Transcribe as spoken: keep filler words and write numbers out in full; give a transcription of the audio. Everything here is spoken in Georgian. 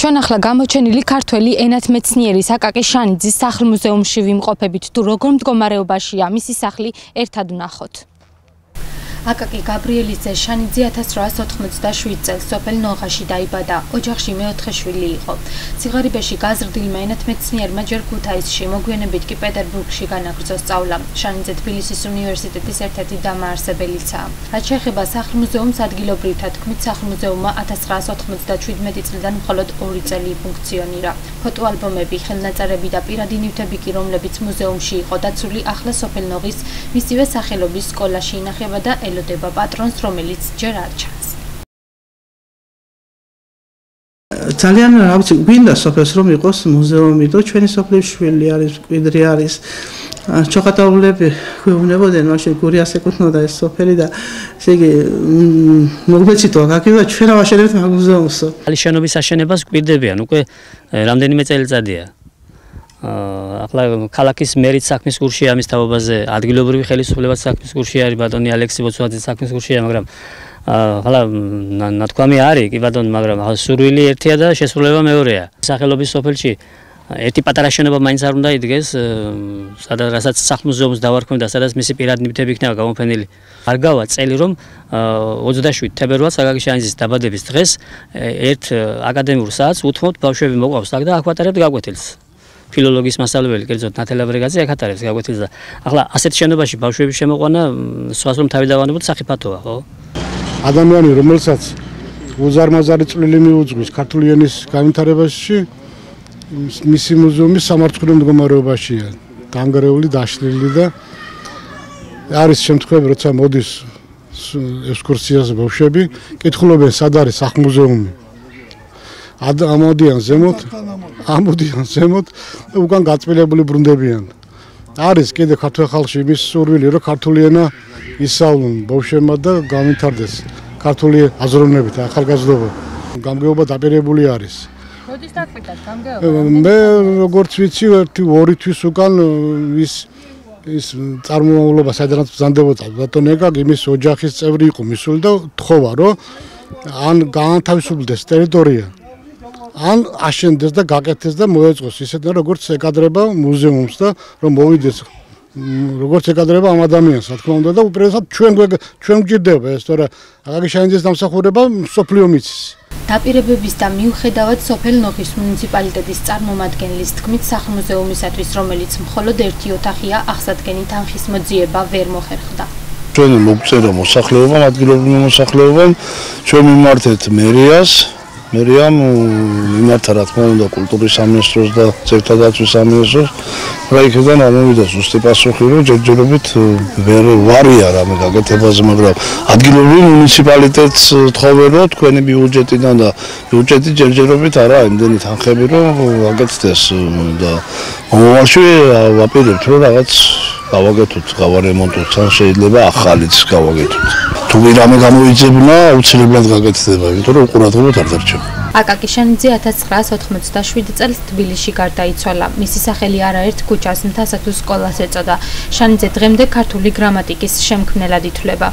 ჩვენ ახლა გამოჩენილი ქართველი ენათმეცნიერის აკაკი შანიძის სახლ-მუზეუმში ვიმყოფებით, თუ როგორ მდგომარეობაშია მისი სახლი, ერთად ვნახოთ. აკაკი გაბრიელის ძე შანიძე ათას რვაას ოთხმოცდაშვიდ წელს სოფელ ნოღაში დაიბადა. ოჯახში მეოთხე შვილი იყო. სიღარიბეში გაზრდილმა ენათმეცნიერმა ჯერ ქუთაისში, მოგვიანებით კი პეტერბურგში განაგრძო სწავლა. შანიძე თბილისის უნივერსიტეტის ერთ-ერთი დამაარსებელიცაა. რაც შეეხება სახლ-მუზეუმს, ადგილობრივთა თქმით, სახლ-მუზეუმმა ათას რვაას ოთხმოცდაშვიდმეტი წლიდან მხოლოდ ორი წელი ფუნქციონირა. ფოტოალბომები, ხელნაწერები და პირადი ნივთები კი, რომლებიც მუზეუმში იყო დაცული, ახლა სოფელ ნოღის მისივე სახელობის სკოლაში ინახება და ელოდება პატრონს, რომელიც ჯერ არ ჩანს. ძალიან რა ვიცი, გვინდა სოფელს რომ იყოს მუზეუმი და ჩვენი სოფლის შვილი არის, მკვიდრი არის. ჩოხატაულები გვეუბნებოდნენ, მაშინ გურიას ეკუთვნოდა ეს სოფელი და ესე იგი მოგბეცითო აკაკი და ჩვენ ავაშენებთ მაგ მუზეუმსო. ახალი შენობის აშენებას გვირდებიან, უკვე რამდენიმე წელიწადია. ახლა ქალაქის მერიც საქმის კურსია ამის თაობაზე, ადგილობრივი ხელისუფლებაც საქმის კურსია არის, ბატონი ალექსი ბოცვაძე საქმის კურსია, მაგრამ ახლა ნათქვამი არის კი ბატონო, მაგრამ სურვილი ერთია და შესრულება მეორეა. სახელობის სოფელში ერთი პატარა შენობა მაინც არ უნდა იდგეს, სადაც რასაც სახლ-მუზეუმს დავარქმევ და სადაც მისი პირადი ნივთები იქნება გამოფენილი. არ გავა წელი რომ ოცდაშვიდ თებერვალს აკაკი შანიძის დაბადების დღეს ერთ აკადემიურ საათს უთმობთ ბავშვები მოყვავს აქ და აქ ვატარებთ გაკვეთილს. ფილოლოგიის მასწავლებელი, კერძოდ ნათელა ბრეგაძე აქ ატარებს გაკვეთილს და ახლა ასეთ შენობაში ბავშვების შემოყვანა სხვას რომ თავი დავანებოთ საფათოა, ხო? ადამიანი, რომელსაც უზარმაზარი წვლილი მიუძღვის ქართული ენის განვითარებაში, მისი მუზეუმი სამართლო მდგომარეობაშია, განგრეული, დაშლილი და არის შემთხვევები, როცა მოდის ექსკურსიაზე ბავშვები, კითხულობენ, სად არის სახლ-მუზეუმი. ამოდიან ზემოთ, ამოდიან ზემოთ და უკან გაწმილებული ბრუნდებიან. არის კიდე ქართულ ხალხში იმის სურვილი, რომ ქართული ენა ისწავლონ ბავშვებმა და განვითარდეს ქართული აზროვნებით, ახალგაზრდობა. გამგეობა დაპირებული არის. როდის დაკვირდათ გამგეობა? მე როგორც ვიცი, ერთი ორი თვის უკან ის ის წარმომავლობა საიდანაც ბრძანდებოდა ბატონ ეკაკი, იმის ოჯახის წევრი იყო მისული და თხოვა, რომ ან გაანთავისუფლდეს ტერიტორია, ან აშენდეს და გაკეთდეს და მოეწყოს ისეთნაირად როგორც ეკადრება მუზეუმს და რომ მოვიდეს როგორც ეკადრება ამ ადამიანს, რა თქმა უნდა და უპირველესად ჩვენ ჩვენ გვჭირდება ეს, თორე აკაკი შანიძის დამსახურება მსოფლიო მიცის. დაპირებების და მიუხედავად სოფელ ნოღის მუნიციპალიტეტის წარმომადგენლის თქმით, სახლ-მუზეუმისათვის, რომელიც მხოლოდ ერთი ოთახია, აღსადგენი თანხის მოძიება ვერ მოხერხდა. ჩვენ მოგწერა მოსახლეობამ, ადგილობრივ მოსახლეობამ, ჩვენ მიმართეთ მერიას, მერიამ მიმართა რა თქმა უნდა კულტურის სამინისტროს და ძეგლთადაცვის სამინისტროს, რა იქიდან ამოვიდა ზუსტი პასუხი, რომ ჯერჯერობით ვერ ვარია რამე გაკეთებაზე, მაგრამ ადგილობრივ მუნიციპალიტეტს თხოვენ, რომ თქვენი ბიუჯეტიდან და ბიუჯეტი ჯერჯერობით არა იმდენი თანხები, რომ გაკეთდეს და მომავალში ვაპირებთ, რომ რაღაც გავაკეთოთ, გავარემონტოთ, ან შეიძლება ახალიც გავაკეთოთ. თუ ვირამე გამოიძებნა, აუცილებლად გაკეთდება, იმიტომ რომ უყურადღებოდ არ დარჩება. აკაკი შანიძე ათას რვაას ოთხმოცდაშვიდ წელს თბილისში გარდაიცვალა. მისი სახელი არაერთ ქუჩას, მთასა თუ სკოლას ეწოდა. შანიძე დღემდე ქართული გრამატიკის შემქმნელად ითვლება.